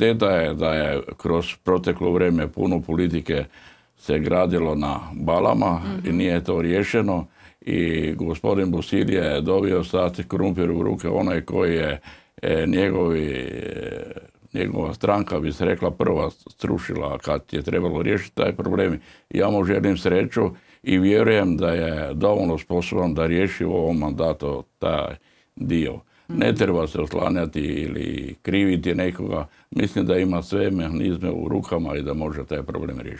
šteta je da je kroz proteklo vrijeme puno politike se gradilo na balama i nije to riješeno. I gospodin Busilija je dobio sad krumpir u ruke, onaj koji je njegova stranka, bi se rekla, prva strušila kad je trebalo riješiti taj problem. Ja mu želim sreću i vjerujem da je dovoljno sposoban da riješi u ovom mandatu taj dio. Ne treba se oslanjati ili kriviti nekoga. Mislim da ima sve mehanizme u rukama i da može taj problem riješiti.